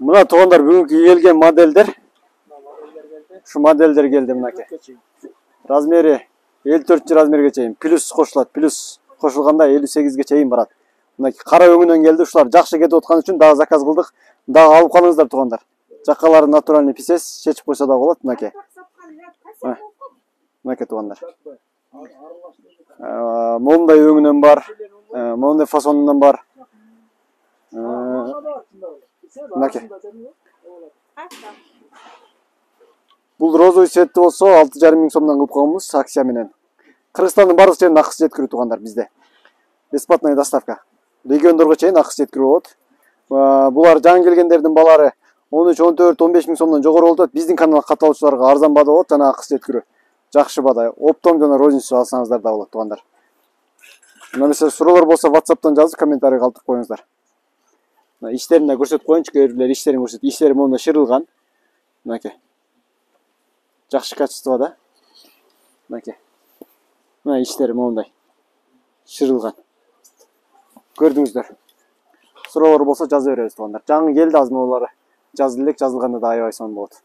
Мына туугандар бүгүнкү келген модельдер. Şu modeller geldi mınaki. Razmeri 54 razmerге чейин плюс кошулат. Плюс кошулганда 58ге чейин барат. Мынaki кара өңүнөн келди. Ушулар жакшы кетип аткан үчүн дагы заказ кылдык. Дагы алып калыңыздар туугандар. Жаккалары натуральный писес, чечип койсо да болот мынaki. Мынaki туугандар. Момундай өңүнөн бар, момундай фасонунан бар. Мынaki. Бул розовый цветти болсо 6,5 миң сомдон кылып койгонбуз акция менен. Кыргызстандын бардык жерине акысы жеткирүү туугандар бизде. Бесплатная доставка. Региондорго чейин акысы жеткирүү болот. Булар жаңы келгендердин балары 13, 14, 15 миң сомдон жогору болуп атат. Биздин канал катталуучуларга арзан баада болот, жана акысы жеткирүү. Жакшы баада. Оптом жана розница алсаңыздар да болот туугандар. Мына суроолор болсо WhatsApp'тан жазып, комментарий калтырып коюңуздар. Иштерин да көрсөтүп коеюнчу, кейбирлер иштерин көрсөтүп, иштери монда шырылган. Мынaki. Жакшы качество да. Мынaki. Мына иштери мондай шырылган. Көрдүңүздөр. Суроолор болсо жаза беребиз туугандар. Жаңы келди азыр могулары. Жазды элек, жазылганда да аябай сонун болот.